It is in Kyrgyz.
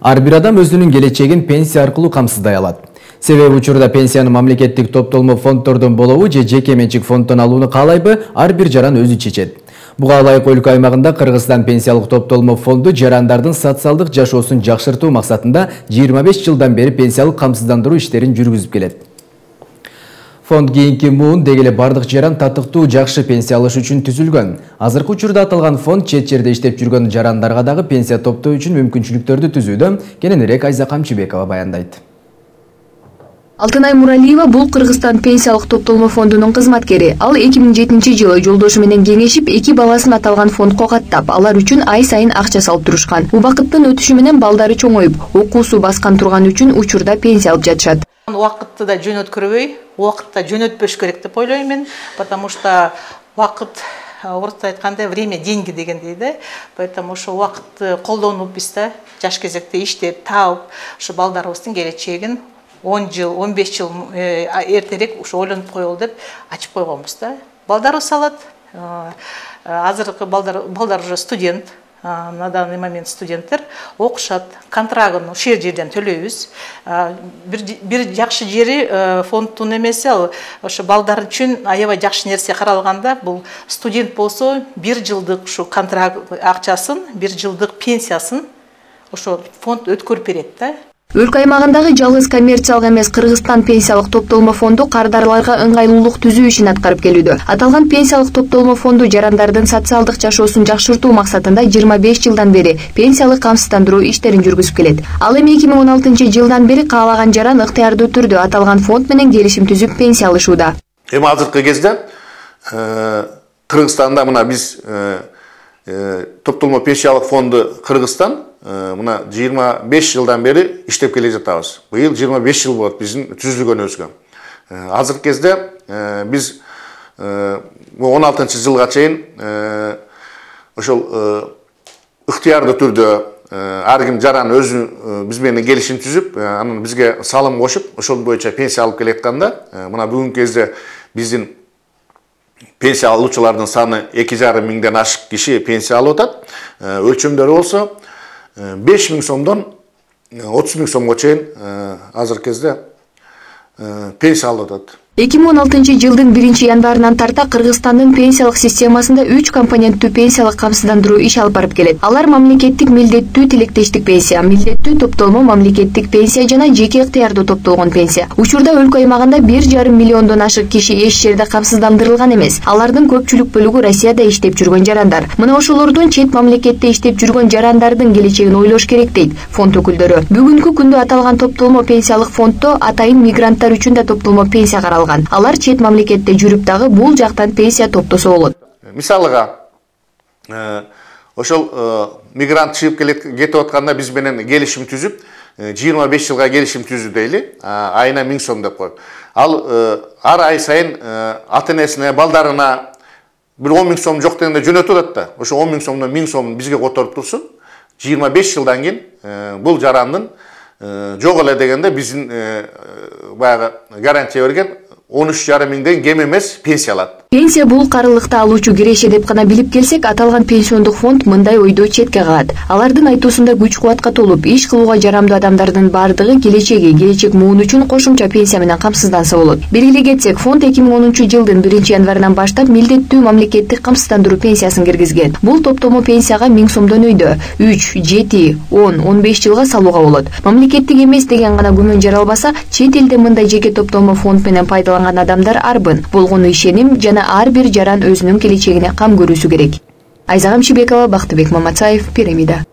Ар бир адам өзүнүн келечегин пенсия аркылуу камсыздай алат. Себеби учурда пенсияны мамлекеттик топтолмо фонддордон болобу же жеке менчик фонддон алууну каалайбы, ар бир жаран өзү чечет. Буга ылайык өлкө аймагында Кыргызстан пенсиялык топтолмо фонду жарандардын социалдык жашоосун жакшыртуу максатында 25 жылдан бери пенсиялык камсыздандыруу иштерин жүргүзүп келет. Фонд кийинки муун деги эле бардык жаран татыктуу жакшы пенсия алыш үчүн түзүлгөн. Азыркы учурда аталган фонд чет жерде иштеп жүргөн жарандарга дагы пенсия топтоо үчүн мүмкүнчүлүктөрдү түзүүдө. Кененирээк Айза Камчыбекова баяндайт. Алтынай Муралиева бул Кыргызстан пенсиялык топтолмо фондунун кызматкери. Ал 2007-жылы жолдошу менен кеңешип, 2 баласын аталган фондко каттап, алар үчүн ай сайын акча салып турушкан. Убакыттын өтүшү менен балдары чоңоюп, окуусу баскан турган үчүн учурда пенсия алып жатышат. Убакытты да жөнөткөрбөй, убакытта жөнөтпөш керек деп ойлойм мен, потому что убакыт орусча айтканда время деньги деген дейди. Поэтому ошо убакытты колдонуп биз да жаш кезекте иштеп, таап, ошо балдарыбыздын келечегин 10 жыл, 15 жыл эртерээк ушу ойлонуп коелу деп ачып койгонбуз да. Балдарыбыз салат. Азыркы балдар уже студент. На данный момент студенттер окушат. Контрагын ушул жерден төлөйбүз. Бир жакшы жери фонддун эмеси ал ошо балдар үчүн аябай жакшы нерсе каралганда, бул студент болсо 1 жылдык ушу контракт акчасын, 1 жылдык пенсиясын ошо фонд өткөрүп берет да. Өлкө аймагындагы жалгыз коммерциялык эмес Кыргызстан пенсиялык топтолмо фонду кардарларга ыңгайлуулук түзүү ишин аткарып келүүдө. Аталган пенсиялык топтолмо фонду жарандардын социалдык жашоосун жакшыртуу максатында 25 жылдан бери пенсиялык камсыздандыруу иштерин жүргүзүп келет. Ал эми 2016-жылдан бери каалаган жаран ыктыярдуу түрдө аталган фонд менен келишим түзүп пенсия алышууда. Эми азыркы кезде Кыргызстанда мына биз топтолмо пенсиялык фонду Кыргызстан мына 25 жылдан бери иштеп келе жатабыз. Быйыл 25 жыл болот биздин түзүлгөнүбүзгө. Азыркы кезде биз 16-жылга чейин ошол ыктыярдуу түрдө ар ким жаран өзү биз менен келишим түзүп, анан бизге салым кошуп, ошол боюнча пенсия алып келатканда, мына бүгүнкү кезде биздин пенсия алуучулардын саны 2,5 миңден ашык киши пенсия алып атат. Өлчөмдөрү болсо 5.000 сомдон 30.000 сомго чейин азыркы кезде пенсия алып атат. 2016-жылдын 1-январынан тарта Кыргызстандын пенсиялык системасында 3 компоненттүү пенсиялык камсыздандыруу иш алып барып келет. Алар мамлекеттик милдеттүү тилектештик пенсия, милдеттүү топтолмо мамлекеттик пенсия жана жеке ыктыярдуу топтолгон пенсия. Учурда өлкө аймагында 1,5 миллиондон ашык киши эч жерде камсыздандырылган эмес. Алардын көпчүлүк бөлүгү Россияда иштеп жүргөн жарандар. Мына ошолордун чет мамлекетте иштеп жүргөн жарандардын келечегин ойлош керек дейт фонд өкүлдөрү. Бүгүнкү күндө аталган топтолмо пенсиялык фонддо атайын мигранттар үчүн да топтолмо пенсия каралган. Алар чет мамлекетте жүрүп дагы бул жактан пенсия топтосо болот. Мисалыга ошол мигрант чыгып кетип атканда биз менен келишим түзүп, 25 жылга келишим түзүү дейли, айына 1000 сом деп коюп. Ал ар ай сайын ата-энесине, балдарына бир 10.000 сом жок дегенде жөнөтүп атат да. Ошо 10.000 сомдон 1000 сом бизге которуп турсун. 25 жылдан кийин бул жарандын жок эле дегенде биздин баягы гарантия берген 13,5 миңден кем эмес пенсия алат. Пенсия бул карылыкты алуучу киреше деп гана билип келсек, аталган пенсиондук фонд мындай ойду четке кагат. Алардын айтуусунда күч-кубатка толуп, иш кылууга жарамдуу адамдардын бардыгы келечек муун үчүн кошумча пенсия менен камсызданса болот. Белгилей кетсек, фонд 2010-жылдын 1-январынан баштап милдеттүү мамлекеттик камсыздандыруу пенсиясын киргизген. Бул топтомо пенсияга 1000 сомдон өйдө 3, 7, 10, 15 жылга салууга болот. Мамлекеттик эмес деген гана күмөн жаралбаса, чет элде мындай жеке топтомо фонд менен пайдаланган адамдар арбын. Болгону ишеним жана ар бир жаран өзүнүн келечегине кам көрүүсү керек. Айза Камчыбекова, Бактыбек Маматаев, Пирамида.